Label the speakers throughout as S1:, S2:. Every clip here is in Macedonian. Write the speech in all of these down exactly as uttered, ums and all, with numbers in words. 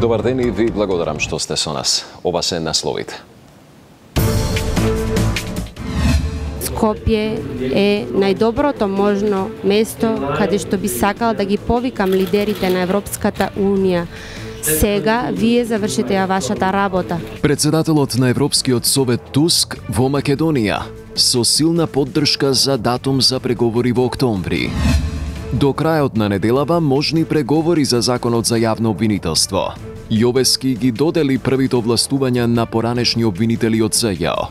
S1: Добар ден и ви благодарам што сте со нас. Ова се насловите.
S2: Скопје е најдоброто можно место каде што би сакал да ги повикам лидерите на Европската унија. Сега вие завршите ја вашата работа.
S3: Председателот на Европскиот совет Туск во Македонија со силна поддршка за датум за преговори во октомври. До крајот на неделава можни преговори за законот за јавно обвинителство. Јовески ги додели првите овластувања на поранешни обвинители од СЈО.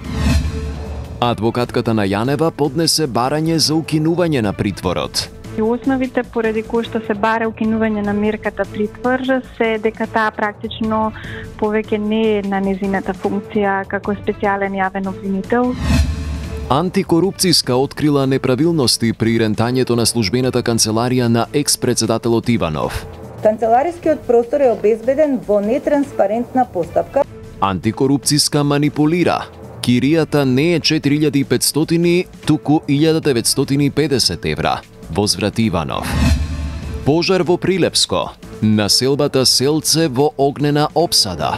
S3: Адвокатката на Јанева поднесе барање за укинување на притворот.
S4: И основите поради кои што се бара укинување на мерката притвор се дека таа практично повеќе не е на незината функција како специјален јавен обвинител.
S3: Антикорупцијска открила неправилности при рентањето на службената канцеларија на екс-председателот Иванов.
S5: Канцеларискиот простор е обезбеден во нетранспарентна постапка.
S3: Антикорупцијска манипулира. Киријата не е четири илјади и петстотини, туку илјада деветстотини и педесет евра. Возврати Иванов. Пожар во Прилепско. Населбата Селце во огнена опсада.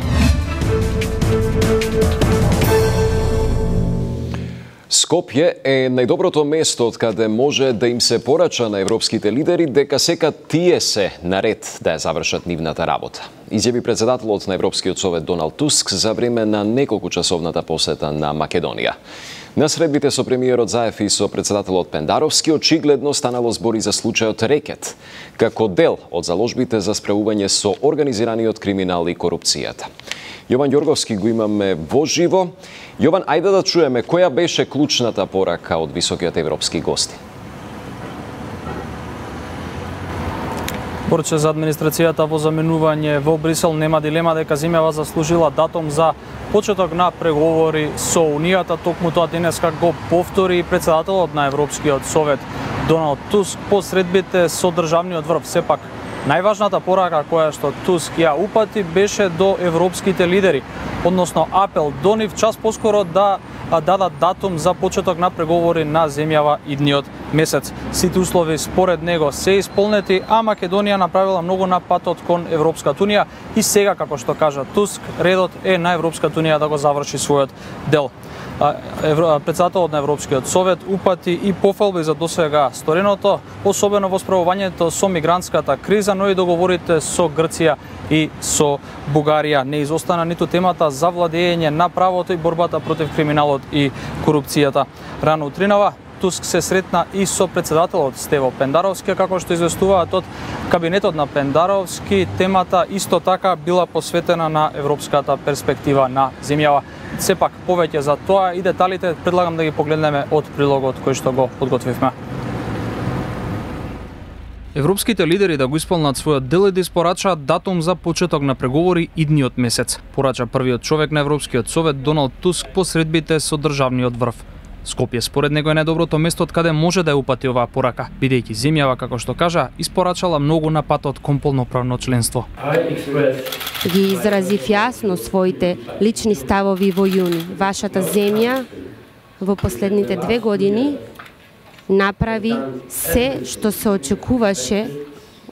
S1: Скопје е најдоброто место од каде може да им се порача на европските лидери дека сека тие се наред да ја завршат нивната работа. Изјави председателот на Европскиот совет Доналд Туск за време на неколкучасовната посета на Македонија. На средбите со премиерот Заев и со председателот Пендаровски очигледно станало збори за случајот Рекет, како дел од заложбите за справување со организираниот криминал и корупцијата. Јован Ѓорговски го имаме во живо. Јован, ајде да чуеме која беше клучната порака од високиот европски гости.
S6: Порче за администрацијата во заменување во Брисел нема дилема дека земјава заслужила датум за почеток на преговори со Унијата. Токму тоа денеска го повтори председателот на Европскиот совет Доналд Туск по средбите со државниот врв. Сепак најважната порака која што Туск ја упати беше до европските лидери, односно апел до нив час поскоро да дадат датум за почеток на преговори на земјава идниот месец. Сите услови според него се исполнети, а Македонија направила многу на патот кон Европската унија и сега, како што кажа Туск, редот е на Европската унија да го заврши својот дел. Председателот на Европскиот совет упати и пофалби за досега стореното, особено во справувањето со мигрантската криза, но и договорите со Грција и со Бугарија. Не изостана ниту темата за владење на правото и борбата против криминалот и корупцијата. Рано утринава Туск се сретна и со председателот Стево Пендаровски, како што известуваат од кабинетот на Пендаровски, темата исто така била посветена на европската перспектива на земјава. Сепак повеќе за тоа и деталите предлагам да ги погледнеме од прилогот кој што го подготвивме. Европските лидери да го исполнат својот дел и да испорачаат датум за почеток на преговори идниот месец, порача првиот човек на Европскиот совет Доналд Туск по средбите со државниот врв. Скопје според него е најдоброто место од каде може да ја упати оваа порака, бидејќи земјава, како што кажа, испорачала многу на патот кон полноправно членство.
S2: Ги изразив јасно своите лични ставови во јуни. Вашата земја во последните две години направи се што се очекуваше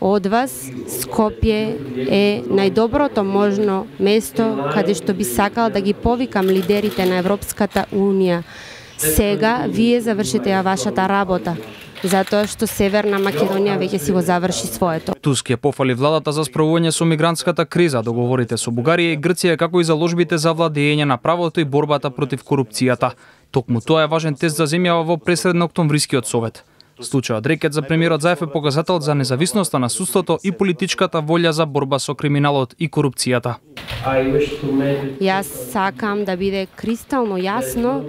S2: од вас. Скопје е најдоброто можно место каде што би сакал да ги повикам лидерите на Европската унија. Сега вие завршите ја вашата работа, затоа што Северна Македонија веќе си го заврши своето.
S6: Туск ја пофали владата за справување со мигрантската криза, договорите со Бугарија и Грција, како и заложбите за владење на правото и борбата против корупцијата. Токму тоа е важен тест за земјава во пресредно-октомврискиот совет. Случајот Рекет за премиерот Заев е показател за независноста на судството и политичката волја за борба со криминалот и корупцијата.
S2: Јас сакам да биде кристално јасно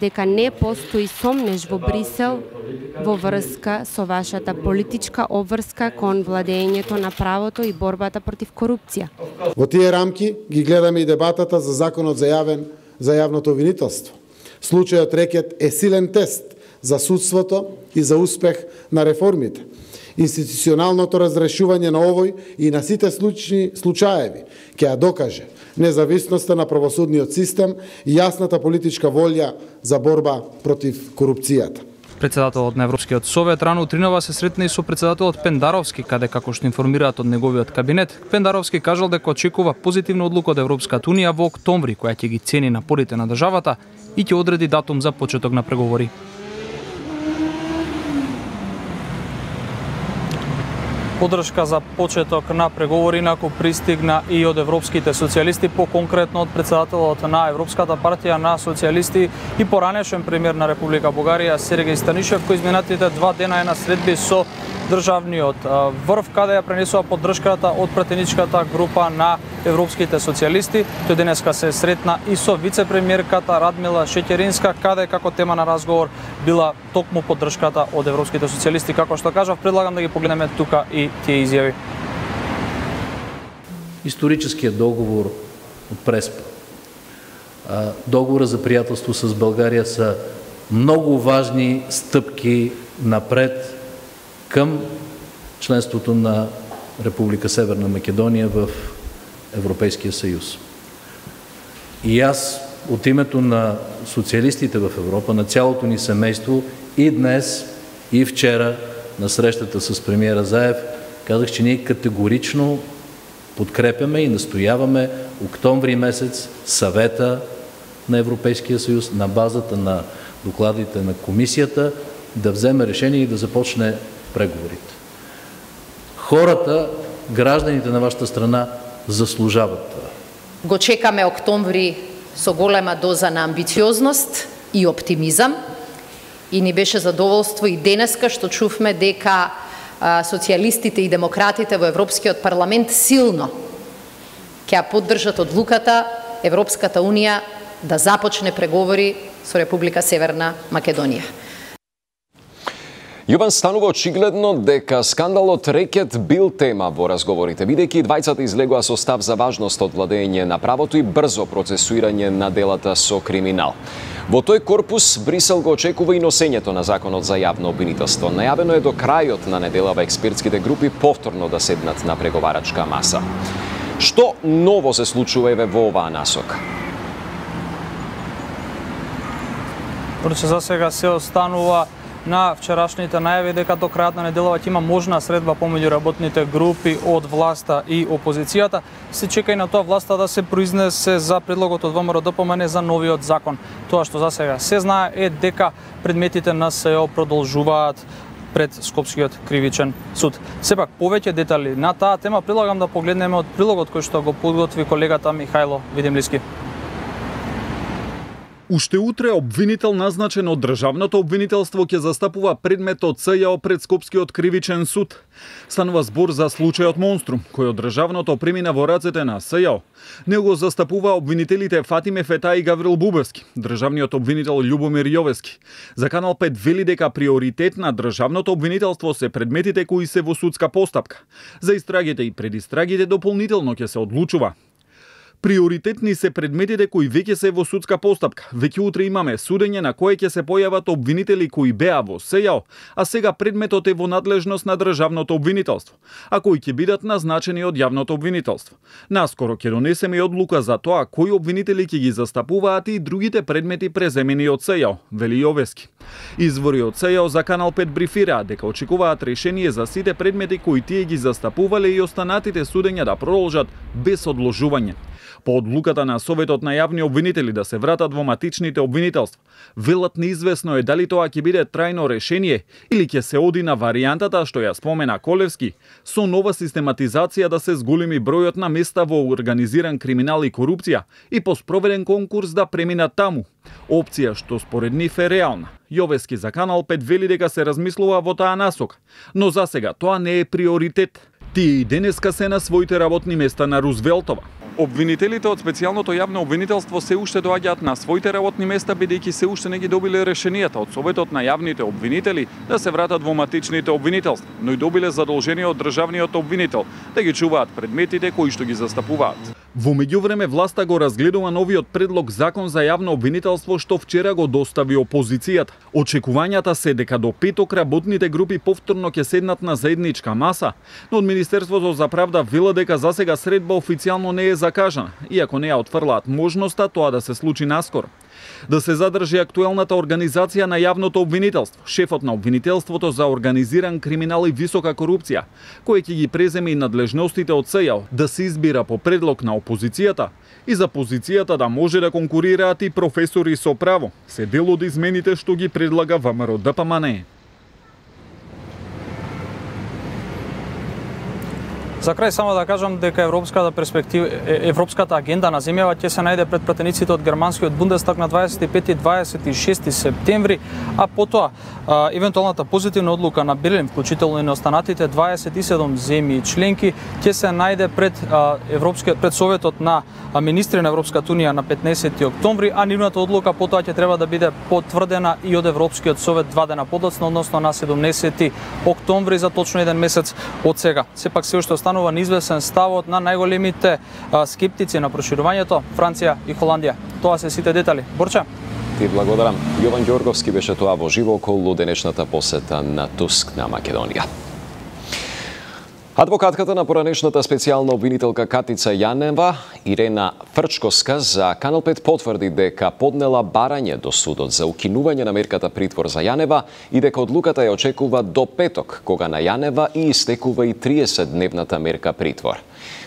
S2: дека не постои сомнеж во Брисел во врска со вашата политичка обврска кон владењето на правото и борбата против корупција.
S7: Во тие рамки ги гледаме и дебатата за законот за јавен за јавното обвинителство. Случајот Рекет е силен тест за судството и за успех на реформите. Институционалното разрешување на овој и на сите случаи случаеви ќе ја докаже независноста на правосудниот систем и јасната политичка волја за борба против корупцијата.
S6: Председателот на Европскиот совет рано утринава се сретна и со председателот Пендаровски, каде како што информираат од неговиот кабинет, Пендаровски кажал дека очекува позитивна одлука од Европската унија во октомври, која ќе ги цени напорите на државата и ќе одреди датум за почеток на преговори. Поддршка за почеток на преговори инаку пристигна и од европските социјалисти, поконкретно од председателот на Европската партија на социјалисти и поранешен премиер на Република Бугарија Сергеј Станишев, кој изминатите два дена е на средби со државниот врв, каде ја пренесува поддршката од пратеничката група на европските социјалисти. Тој денеска се сретна и со вице-премиерката Радмила Шеќеринска, каде како тема на разговор била токму поддршката од европските социјалисти. Како што кажав, предлагам да ги погледнеме тука и тие изјави.
S8: Историческиот договор од Преспа, договора за пријателство с Българија се многу важни стъпки напред към членството на Република Северна Македонија в Европейския съюз. И аз от името на социалистите в Европа, на цялото ни семейство, и днес, и вчера на срещата с премиера Заев, казах, че ние категорично подкрепяме и настояваме октомври месец съвета на Европейския съюз на базата на докладите на комисията да вземе решение и да започне преговорите. Хората, гражданите на вашата страна заслужават това.
S9: Го чекаме октомври со голема доза на амбициозност и оптимизам и ни беше задоволство и денеска што чувме дека а, социјалистите и демократите во Европскиот парламент силно ќе поддржат одлуката Европската унија да започне преговори со Република Северна Македонија.
S1: Јован, станува очигледно дека скандалот Рекет бил тема во разговорите, бидејќи двајцата излегоа со став за важност од владење на правото и брзо процесуирање на делата со криминал. Во тој корпус Брисел го очекува и носењето на законот за јавно обвинителство. Најавено е до крајот на неделава експертските групи повторно да седнат на преговарачка маса. Што ново се случува еве во оваа насока?
S6: Проче за сега се останува на вчерашните најави дека до крајот на неделава ќе има можна средба помеѓу работните групи од власта и опозицијата. Се чека и на тоа власта да се произнесе за предлогот од ВМРО-ДПМН за новиот закон. Тоа што за сега се знае е дека предметите на СЕО продолжуваат пред Скопскиот кривичен суд. Сепак повеќе детали на таа тема предлагам да погледнеме од прилогот кој што го подготви колегата Михајло Видимлиски.
S10: Уште утре обвинител назначен од Државното обвинителство ќе застапува предметот СЈО пред Скопскиот кривичен суд. Станува збор за случајот Монструм, кој од Државното премина во рацете на СЈО. Него застапува обвинителите Фатиме Фета и Гаврил Бубевски, државниот обвинител Љубомир Јовески. За Канал пет вели дека приоритет на Државното обвинителство се предметите кои се во судска постапка. За истрагите и предистрагите дополнително ќе се одлучува. Приоритетни се предметите кои веќе се во судска постапка. Веќе утре имаме судење на кое ќе се појават обвинители кои беа во СЈО, а сега предметот е во надлежност на Државното обвинителство, а кои ќе бидат назначени од Јавното обвинителство. Наскоро ќе донесеме и одлука за тоа кои обвинители ќе ги застапуваат и другите предмети преземени од СЈО, вели Јовески. Извори од СЈО за Канал пет брифираат дека очекуваат решение за сите предмети кои тие ги застапувале и останатите судења да продолжат без одложување. По одлуката на Советот на јавни обвинители да се вратат во матичните обвинителства, велат неизвестно е дали тоа ќе биде трајно решение или ќе се оди на варијантата што ја спомена Колевски, со нова систематизација да се зголеми бројот на места во организиран криминал и корупција и по спроведен конкурс да преминат таму. Опција што според нив е реална. Јовески за Канал пет вели дека се размислува во таа насока, но за сега тоа не е приоритет. Тие и денеска се на своите работни места на Рузвелтова. Обвинителите од специјалното јавно обвинителство се уште доаѓаат на своите работни места бидејќи се уште не ги добиле решенијата од Советот на јавните обвинители да се вратат во матичните обвинителства, но и добиле задолжение од државниот обвинител да ги чуваат предметите кои што ги застапуваат. Во меѓувреме власта го разгледува новиот предлог закон за јавно обвинителство што вчера го достави опозицијата. Очекувањата се дека до петок работните групи повторно ќе седнат на заедничка маса, но од Министерството за правда вела дека засега средба официјално не е закажана, иако не ја отфрлаат можноста тоа да се случи наскоро. Да се задржи актуелната организација на јавното обвинителство, шефот на обвинителството за организиран криминал и висока корупција, кој ќе ги преземе и надлежностите од СЈО, да се избира по предлог на опозицијата и за позицијата да може да конкурираат и професори со право, се дел од измените што ги предлага ВМРО Д П М Н.
S6: За крај само да кажам дека европската перспектива, европската агенда на земјава ќе се најде пред пратениците од германскиот Бундестаг на дваесет и пети и дваесет и шести септември, а потоа а, евентуалната позитивна одлука на Берлин, вклучително и на останатите дваесет и седум земји членки, ќе се најде пред а, европскиот пред Советот на министри на Европската унија на петнаесети октомври, а нивната одлука потоа ќе треба да биде потврдена и од Европскиот совет два дена подоцна, односно на седумнаесети октомври, за точно еден месец од сега. Сепак се уште останува неизвестен ставот на најголемите а, скептици на проширувањето, Франција и Холандија. Тоа се сите детали. Борче.
S1: Ти благодарам. Јован Ѓорговски беше тоа во живо околу денешната посета на Туск на Македонија. Адвокатката на поранешната специјална обвинителка Катица Јанева, Ирена Фрчковска, за Канал пет потврди дека поднела барање до судот за укинување на мерката притвор за Јанева и дека одлуката ја очекува до петок, кога на Јанева и истекува и триесетдневната мерка притвор.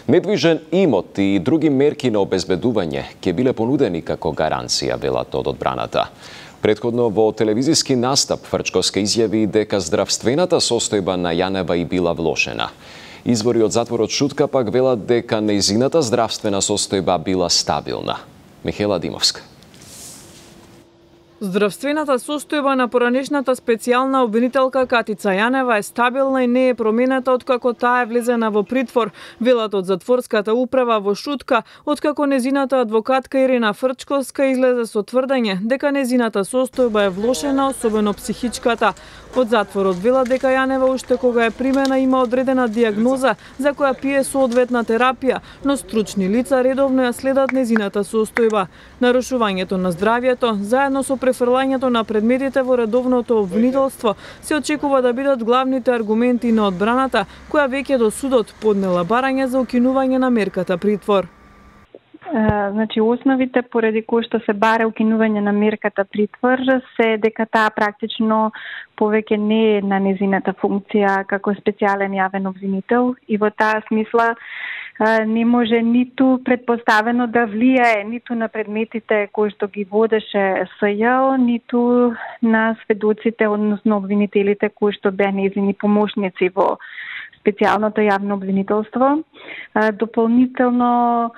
S1: Недвижен имот и други мерки на обезбедување ќе биле понудени како гаранција, велат од одбраната. Претходно во телевизиски настап Фрчковска изјави дека здравствената состојба на Јанева и била влошена. Извори од затворот шутка пак велат дека нејзината здравствена состојба била стабилна. Михела Димовска.
S11: Здравствената состојба на поранешната специјална обвинителка Катица Јанева е стабилна и не е променета откако таа е влезена во притвор, велат од затворската управа во шутка, откако незината адвокатка Ирена Фрчковска излезе со тврдење дека незината состојба е влошена, особено психичката. Од затворот велат дека Јанева уште кога е примена има одредена дијагноза за која пие соодветна терапија, но стручни лица редовно ја следат незината состојба. Нарушувањето на здравјето, заедно со префрлањето на предметите во редовното обвинителство, се очекува да бидат главните аргументи на одбраната, која веќе до судот поднела барање за укинување на мерката притвор.
S4: Значи, основите поради кои што се бара укинување на мерката притвор се дека таа практично повеќе не е на незината функција како специјален јавен обвинител и во таа смисла не може ниту предпоставено да влијае ниту на предметите кои што ги водеше СЈО, ниту на сведоците, односно обвинителите кои што беа незини помошници во специјалното јавно обвинителство. Дополнително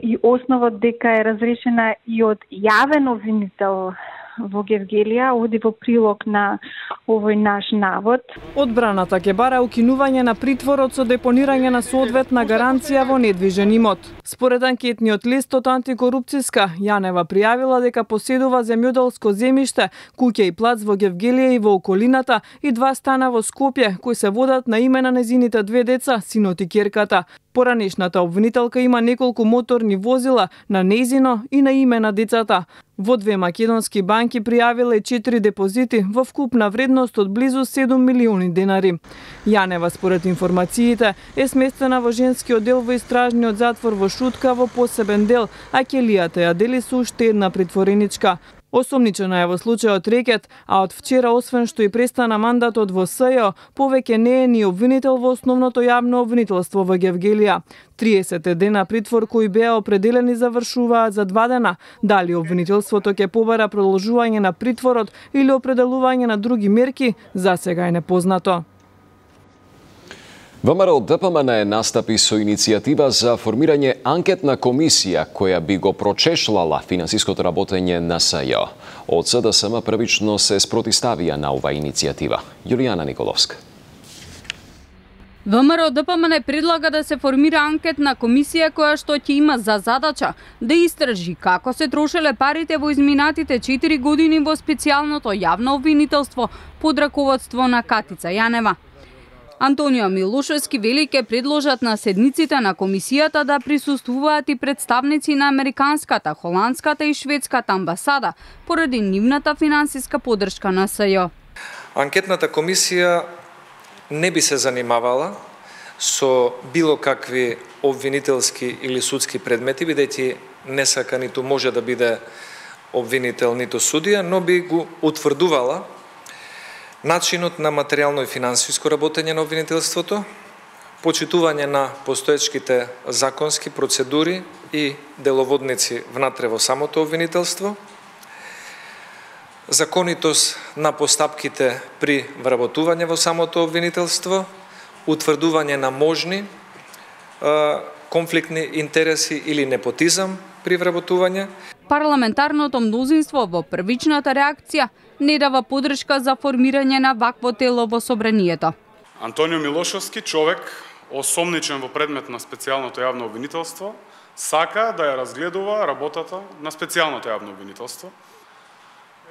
S4: и основот дека е разрешена и од јавен обвинител во Гевгелија оди во прилог на овој наш навод.
S11: Одбраната ќе бара укинување на притворот со депонирање на соодветна гаранција во недвижен имот. Според анкетниот лист од Антикорупцијска, Јанева пријавила дека поседува земјоделско земјиште, куќа и плац во Гевгелија и во околината и два стана во Скопје, кои се водат на име на незините две деца, синот и ќерката. Поранешната обвинителка има неколку моторни возила на нејзино и на име на децата. Во две македонски банки пријавила и четири депозити во вкупна вредност од близу седум милиони денари. Јанева, според информациите, е сместена во женскиот дел во истражниот затвор во Шутка во посебен дел, а ќелијата ја дели со уште една притвореничка. Осомничена е во случајот рекет, а од вчера, освен што и престана мандатот во СЈО, повеќе не е ни обвинител во основното јавно обвинителство во Гевгелија. триесет дена притвор кои беа определени завршуваат за два дена. Дали обвинителството ќе побара продолжување на притворот или определување на други мерки, за сега е непознато.
S1: ВМРО Д П М Н настапи со иницијатива за формирање анкетна комисија која би го прочешлала финансиското работење на СЈО. Од С Д С М првично се спротиставија на оваа иницијатива. Јулијана Николовска.
S12: ВМРО Д П М Н предлага да се формира анкетна комисија која што ќе има за задача да истражи како се трошеле парите во изминатите четири години во специјалното јавно обвинителство под раководство на Катица Јанева. Антонио Милошевски вели ке предложат на седниците на комисијата да присуствуваат и представници на американската, холандската и шведската амбасада поради нивната финансиска поддршка на СЈО.
S13: Анкетната комисија не би се занимавала со било какви обвинителски или судски предмети, бидејќи не сака ниту може да биде обвинител, ниту судија, но би го утврдувала начинот на материјално и финансиско работење на обвинителството, почитување на постоечките законски процедури и деловодници внатре во самото обвинителство, законитост на постапките при вработување во самото обвинителство, утврдување на можни е, конфликтни интереси или непотизам при вработување.
S12: Парламентарното мнозинство во првичната реакција не дава подршка за формирање на вакво тело во собранието.
S14: Антонио Милошевски, човек осомничен во предмет на специјалното јавно обвинителство, сака да ја разгледува работата на специјалното јавно обвинителство.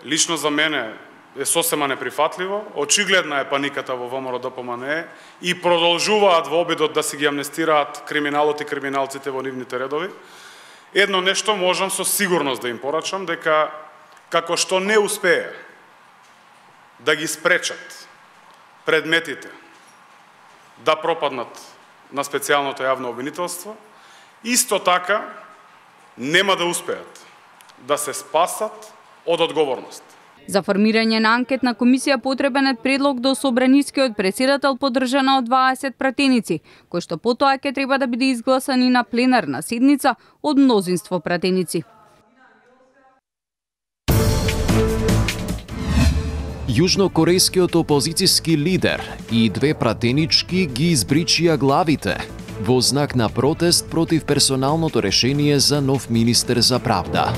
S14: Лично за мене е сосема неприфатливо, очигледна е паниката во ВМРО-ДПМНЕ и продолжуваат во обидот да си ги амнестираат криминалот и криминалците во нивните редови. Едно нешто можам со сигурност да им порачам, дека како што не успее да ги спречат предметите да пропаднат на специјалното јавно обвинителство, исто така нема да успеат да се спасат од одговорност.
S12: За формирање на анкетна комисија потребен е предлог до собранискиот претседател поддржана од дваесет пратеници, кој што потоа ќе треба да биде изгласан и на пленарна седница од мнозинство пратеници.
S3: Јужнокорејскиот опозицијски лидер и две пратенички ги избричија главите во знак на протест против персоналното решение за нов министер за правда.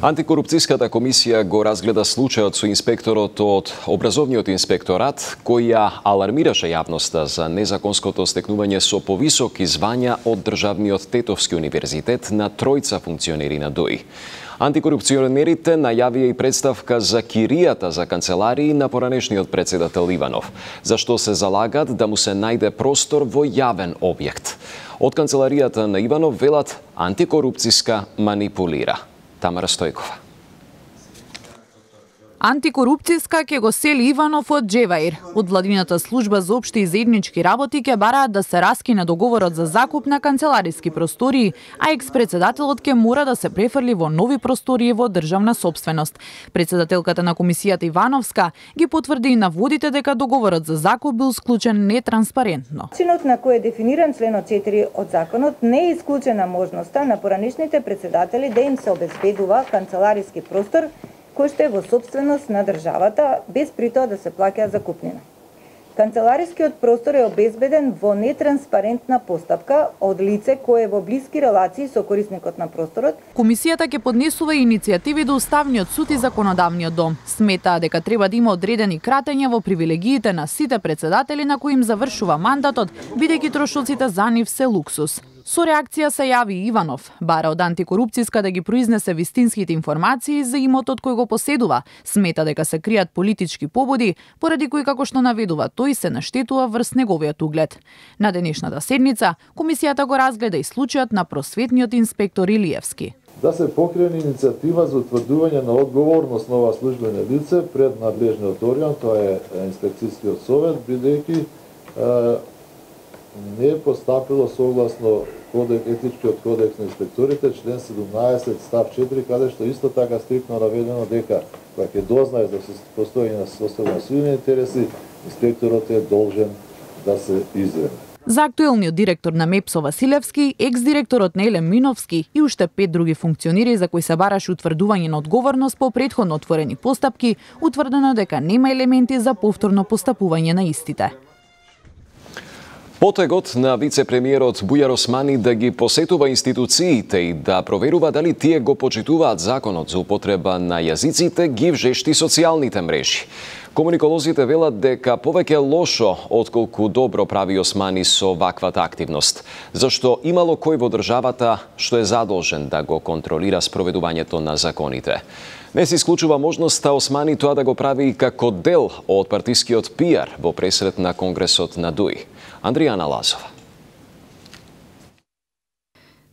S1: Антикорупцијската комисија го разгледа случајот со инспекторот од Образовниот инспекторат, кој ја алармираше јавноста за незаконското стекнување со повисоки звања од Државниот Тетовски универзитет на тројца функционери на ДОИ. Антикорупционерите најавија и представка за киријата за канцеларии на поранешниот председател Иванов, за што се залагат да му се најде простор во јавен објект. Од канцеларијата на Иванов велат антикорупцијска манипулира. Тамара Стојкова.
S15: Антикорупцијска ќе го сели Иванов од Джеваир. Од владината служба за општи и заеднички работи ќе бараат да се раскине договорот за закуп на канцелариски простории, а екс-председателот ќе мора да се префрли во нови простории во државна собственост. Председателката на комисијата Ивановска ги потврди и наводите дека договорот за закуп бил склучен нетранспарентно.
S5: Начинот на кој е дефиниран членот четири од законот не е исклучена можноста на поранешните председатели да им се обезбедува канцелариски простор кој што е во собственост на државата, без при тоа да се плаќа закупнина. Канцеларискиот простор е обезбеден во нетранспарентна постапка од лице кое е во блиски релации со корисникот на просторот.
S15: Комисијата ќе поднесува иницијативи до Уставниот суд и Законодавниот дом. Сметаа дека треба да има одредени кратења во привилегиите на сите председатели на кои им завршува мандатот, бидејќи трошоците за нив се луксус. Со реакција се јави Иванов, бара од антикорупцијска да ги произнесе вистинските информации за имотот кој го поседува. Смета дека се кријат политички побуди, поради кои, како што наведува тој, се наштетува врз неговиот углед. На денешната седница, комисијата го разгледа и случајот на просветниот инспектор Илиевски.
S16: Да се покрене иницијатива за утврдување на одговорност на ова службено лице пред надлежниот орган, тоа е инспекцијскиот совет, бидејќи не е постапило согласно кодек, етичкиот кодекс на инспекторите, член седумнаесет став четири, каде што исто така стриктно наведено дека кога ќе дознае за постоење на составени силни интереси, инспекторот е должен да се извини.
S15: За актуелниот директор на МЕПСО Василевски, екс-директорот Неле Миновски и уште пет други функционери за кои се бараше утврдување на одговорност по претходно отворени постапки, утврдено дека нема елементи за повторно постапување на истите.
S1: Потегот на вице-премиерот Бујар Османи да ги посетува институциите и да проверува дали тие го почитуваат законот за употреба на јазиците ги вжешти социјалните мрежи. Комуниколозите велат дека повеќе лошо отколку добро прави Османи со ваквата активност, зашто имало кој во државата што е задолжен да го контролира спроведувањето на законите. Не се исклучува можноста Османи тоа да го прави како дел од партискиот пиар во пресрет на Конгресот на ДУИ. Андријана Лазова.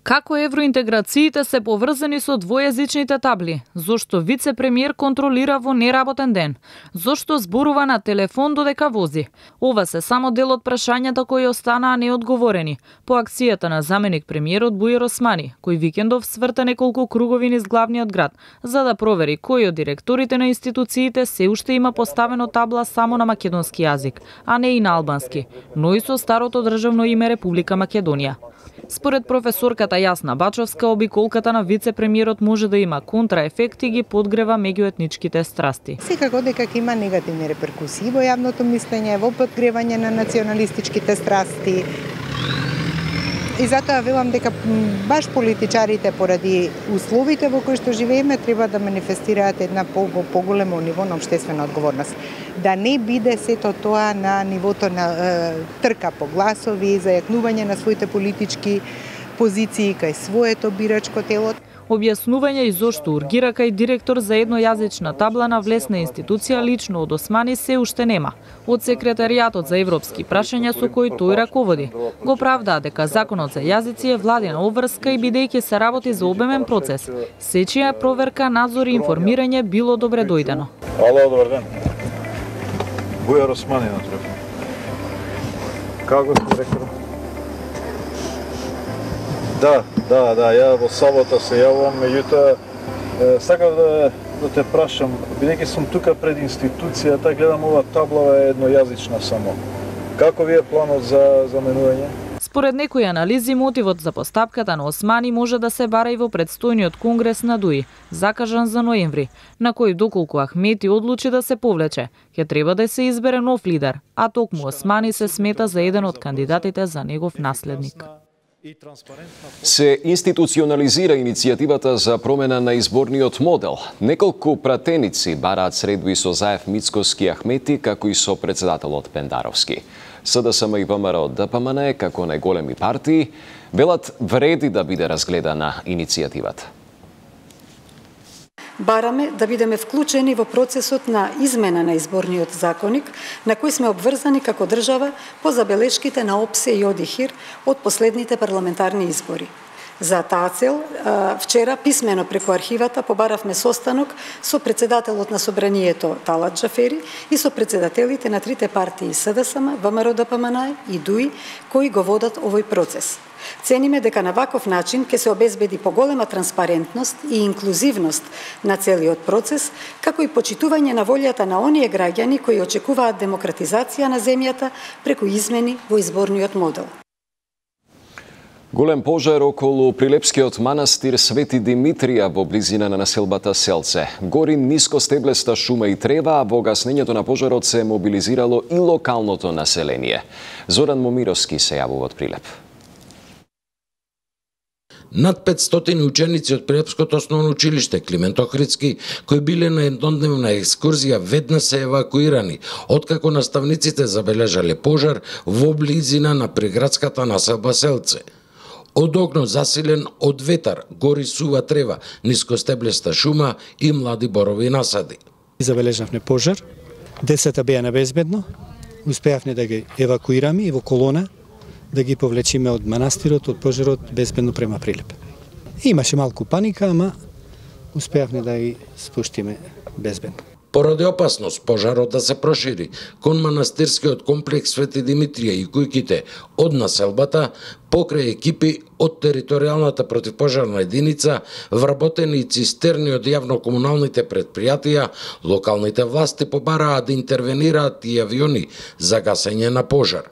S15: Како евроинтеграциите се поврзани со двојазичните табли? Зошто вице-премиер контролира во неработен ден? Зошто зборува на телефон додека вози? Ова се само дел од прашањата кои останаа неодговорени по акцијата на заменик премиерот Бујар Османи, кој викендов сврта неколку кругови низ главниот град за да провери кој од директорите на институциите се уште има поставено табла само на македонски јазик, а не и на албански, но и со старото државно име Република Македонија. Според професорката Јасна Бачовска, обиколката на вице-премиерот може да има контраефекти и ги подгрева меѓуетничките страсти.
S17: Секако дека има негативни реперкусии во јавното мислење, во подгревање на националистичките страсти. И затоа велам дека баш политичарите поради условите во кои што живееме треба да манифестираат една поголемо ниво на општествена одговорност. Да не биде сето тоа на нивото на е, трка по гласови, зајакнување на своите политички позиции кај своето бирачко тело.
S15: Објаснување и зошто ургира кај директор за еднојазична табла на влесна институција лично од Османи се уште нема. Од секретаријатот за европски прашања со кој тој раководи го правдаа дека законот за јазици е владина обврска и бидејќи се работи за обемен процес, сечија проверка, надзор и информирање било добре дојдено.
S18: Ало, добар ден. Бујар Османи на телефон. Како сте директор? Да, да, да, ја во сабота се јавувам, меѓутоа сакав да, да те прашам, бидејќи сум тука пред институцијата, гледам ова таблава е еднојазична само. Како ви е планот за заменување?
S15: Според некои анализи, мотивот за постапката на Османи може да се бара и во предстојниот конгрес на ДУИ, закажан за ноември, на кој доколку Ахмети одлучи да се повлече, ќе треба да се избере нов лидер, а токму Османи се смета за еден од кандидатите за негов наследник.
S1: Се институционализира иницијативата за промена на изборниот модел. Неколку пратеници бараат средби со Заев Мицкоски Ахмети, како и со председателот Пендаровски. СДСМ и ВМРО ДПМН, како најголеми партии, велат вреди да биде разгледана иницијативата.
S19: Бараме да бидеме вклучени во процесот на измена на изборниот законник, на кој сме обврзани како држава по забелешките на ОПСЕ и ОДИХИР од последните парламентарни избори. За таа цел, вчера писмено преку архивата побаравме состанок со председателот на Собранието Талат Џафери и со председателите на трите партии СДСМ, ВМРО ДПМН и ДУИ, кои го водат овој процес. Цениме дека на ваков начин ќе се обезбеди поголема транспарентност и инклузивност на целиот процес, како и почитување на волјата на оние граѓани кои очекуваат демократизација на земјата преку измени во изборниот модел.
S1: Голем пожар околу Прилепскиот манастир Свети Димитрија во близина на населбата Селце. Гори нискостеблеста шума и трева, а во гаснењето на пожарот се мобилизирало и локалното население. Зоран Момировски се јавува од Прилеп.
S20: Над петстотини ученици од Прилепското основно училиште Климент Охридски, кои биле на еднодневна екскурзија, веднаш се евакуирани, откако наставниците забележале пожар во близина на приградската населба Селце. Од огнот засилен од ветар, гори сува трева, нискостеблеста шума и млади борови насади.
S21: Забележавме пожар, децата беа небезбедно, успеавме да ги евакуираме и во колона да ги повлечиме од манастирот, од пожарот, безбедно према Прилеп. Имаше малку паника, ама успеавме да ги спуштиме безбедно.
S20: Поради опасност пожарот да се прошири кон манастирскиот комплекс Свети Димитрија и кујките од населбата, покрај екипи од територијалната противпожарна единица, вработени и цистерни од јавно-комуналните предпријатија, локалните власти побараа да интервенираат и авиони за гасење на пожар.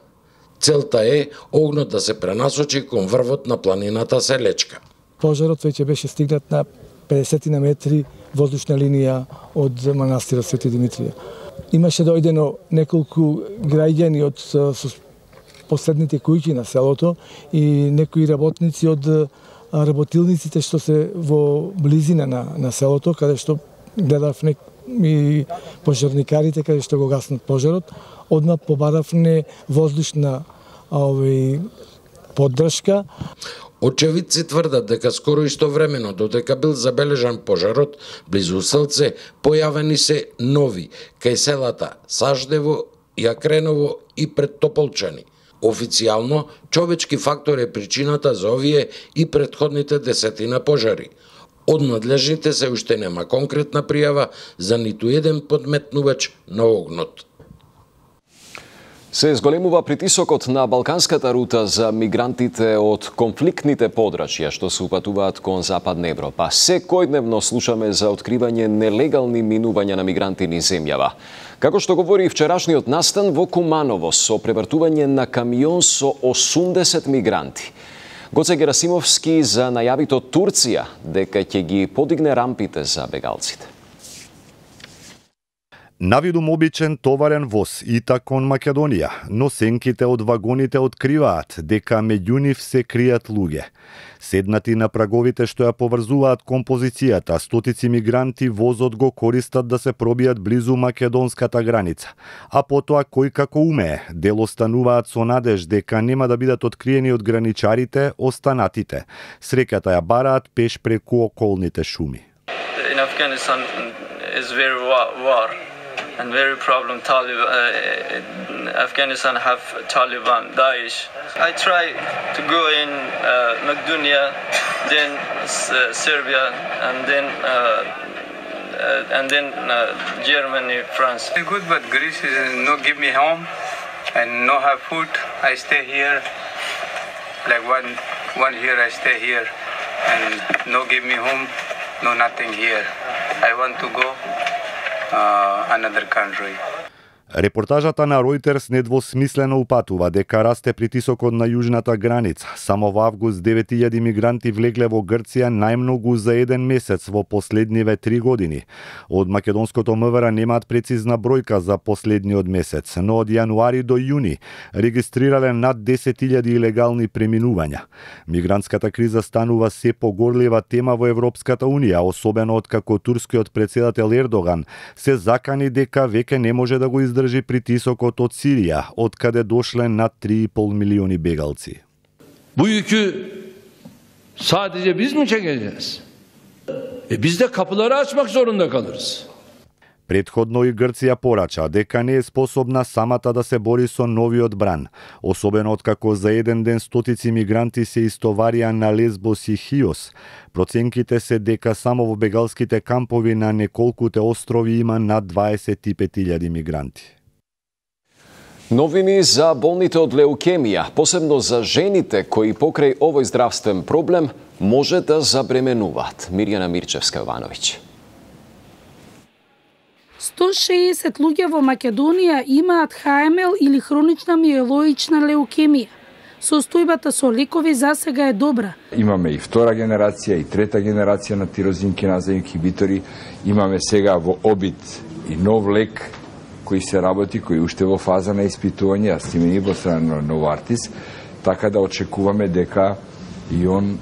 S20: Целта е огнот да се пренасочи кон врвот на планината Селечка.
S22: Пожарот веќе беше стигнат на педесет на метри воздушна линија од манастирот Свети Димитрија. Имаше дојдено неколку граѓани од со последните куќи на селото и некои работници од работилниците што се во близина на, на селото, каде што гледавме и пожарникарите каде што го гаснат пожарот, одма побаравме воздушна овој поддршка.
S20: Очевидци тврдат дека скоро истовремено додека бил забележан пожарот близу Селце, појавени се нови кај селата Саждево, Јакреново и пред Тополчани. Официјално, човечки фактор е причината за овие и претходните десетина пожари. Од надлежните се уште нема конкретна пријава за ниту еден подметнувач на огнот.
S1: Се зголемува притисокот на балканската рута за мигрантите од конфликтните подрачја што се упатуваат кон Западна Европа. Секојдневно слушаме за откривање нелегални минувања на мигранти низ земјава. Како што говори вчерашниот настан во Куманово со превртување на камион со осумдесет мигранти. Гоце Герасимовски за најавито Турција дека ќе ги подигне рампите за бегалците.
S2: Навидум обичен товарен воз ита кон Македонија, но сенките од вагоните откриваат дека меѓу нив се кријат луѓе. Седнати на праговите што ја поврзуваат композицијата, стотици мигранти возот го користат да се пробијат близу македонската граница. А потоа кој како умее, дел остануваат со надеж дека нема да бидат откриени од граничарите, останатите. Среќата ја бараат пеш преку околните шуми.
S7: In Afghanistan is very war. And very problem Taliban, uh, Afghanistan have Taliban, Daesh. I try to go in uh, Macedonia, then uh, Serbia, and then uh, uh, and then uh, Germany, France.
S23: Good, but Greece is no give me home and no have food. I stay here, like one one year I stay here, and no give me home, no nothing here. I want to go. Uh, another country.
S2: Репортажата на Reuters недвосмислено упатува дека расте притисокот на јужната граница. Само во август девет илјади мигранти влегле во Грција, најмногу за еден месец во последниве три години. Од македонското МВР немаат прецизна бројка за последниот месец, но од јануари до јуни регистрирале над десет илјади илегални преминувања. Мигрантската криза станува се погорлива тема во Европската унија, особено откако турскиот председател Ердоган се закани дека веќе не може да го издржи држи притисокот од Сирија, од каде дошле над три и пол милиони бегалци.
S24: Bu yükü sadece biz mi çekeceğiz? E biz de kapıları açmak zorunda kalırız.
S2: Предходно и Грција порача дека не е способна самата да се бори со новиот бран, особено откако за еден ден стотици мигранти се истоварија на Лесбос и Хиос. Проценките се дека само во бегалските кампови на неколкуте острови има над дваесет и пет илјади мигранти.
S1: Новини за болните од леукемија, посебно за жените кои покрај овој здравствен проблем може да забременуваат. Мирјана Мирчевска-Јовановиќ.
S25: сто и шеесет луѓе во Македонија имаат Х М Л или хронична миелоична леукемија. Состојбата со лекови засега е добра.
S26: Имаме и втора генерација и трета генерација на тирозин киназа инхибитори. Имаме сега во обид и нов лек кој се работи, кој уште во фаза на испитување, астимени во страна на Новартис, така да очекуваме дека и он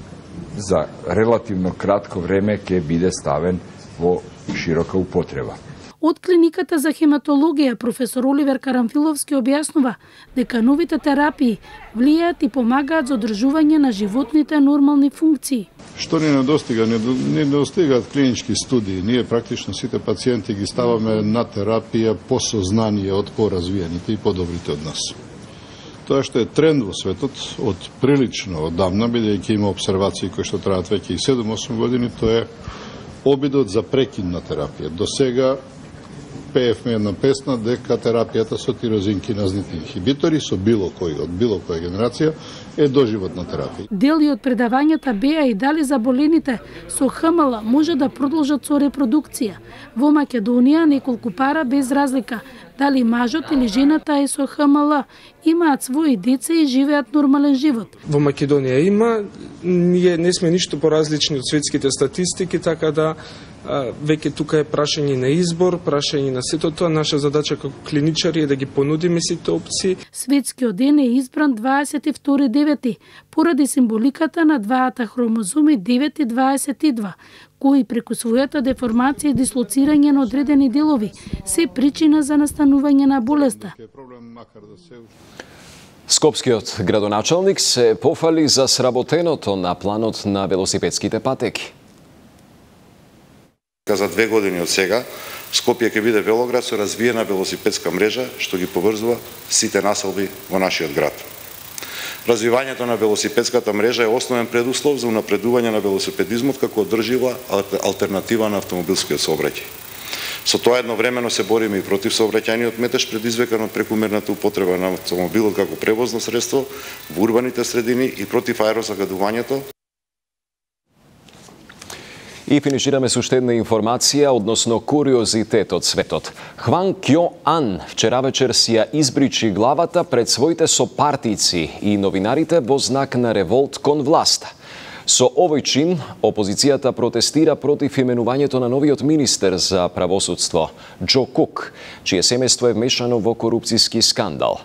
S26: за релативно кратко време ќе биде ставен во широка употреба.
S25: Од клиниката за хематологија професор Оливер Карамфиловски објаснува дека новите терапии влијаат и помагаат за одржување на животните нормални функции.
S27: Што ни недостига? Не недостигаат клинички студии. Ние практично сите пациенти ги ставаме на терапија по сознание од поразвиените и подобрите од нас. Тоа што е тренд во светот од прилично одамна, бидејќи има обсервации кои што траат веќе и седум-осум години, тоа е обидот за прекин на терапија. До сега пеевме една песна дека терапијата со тирозин-киназните инхибитори со било кој од било која генерација е доживотна терапија.
S25: Дели од предавањата беа и дали заболените со Х М Л може да продолжат со репродукција. Во Македонија неколку пара без разлика дали мажот или жената е со Х М Л имаат своји деца и живеат нормален живот.
S28: Во Македонија има, ние не сме ништо поразлични од светските статистики, така да веќе тука е прашање на избор, прашање на сето тоа. Наша задача како клиничари е да ги понудиме сите опции.
S25: Светскиот ден е избран дваесет и втори девети поради символиката на дваата хромозоми девет и дваесет и два, кои преку својата деформација и дислоцирање на одредени делови се причина за настанување на болеста.
S1: Скопскиот градоначалник се пофали за сработеното на планот на велосипедските патеки.
S29: За две години од сега, Скопје ќе биде велоград со развиена велосипедска мрежа, што ги поврзува сите населби во нашиот град. Развивањето на велосипедската мрежа е основен предуслов за унапредување на велосипедизмот како одржива алтернатива на автомобилскиот сообраќај. Со тоа едновремено се бориме и против сообраќајниот метеж предизвикан од прекумерната употреба на автомобилот како превозно средство во урбаните средини и против аерозагадувањето.
S1: И финишираме со уште една информација односно куриозитет од светот. Хван Кјо Ан вчера вечер си ја избричи главата пред своите сопартици и новинарите во знак на револт кон власта. Со овој чин, опозицијата протестира против именувањето на новиот министер за правосудство, Џо Кук, чие семејство е вмешано во корупцијски скандал.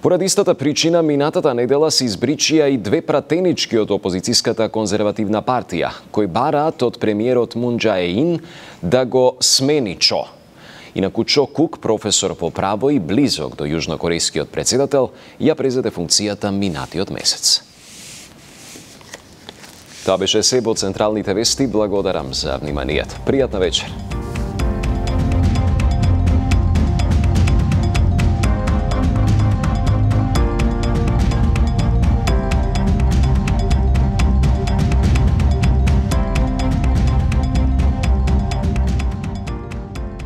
S1: Поради истата причина, минатата недела се избричија и две пратенички од опозицијската конзервативна партија, кои бараат од премиерот Мун Џаe Ин да го смени Чо. Инаку Чо Кук, професор по право и близок до јужнокорејскиот председател, ја презеде функцијата минатиот месец. Тоа беше се во централните вести. Благодарам за вниманието. Пријатна вечер.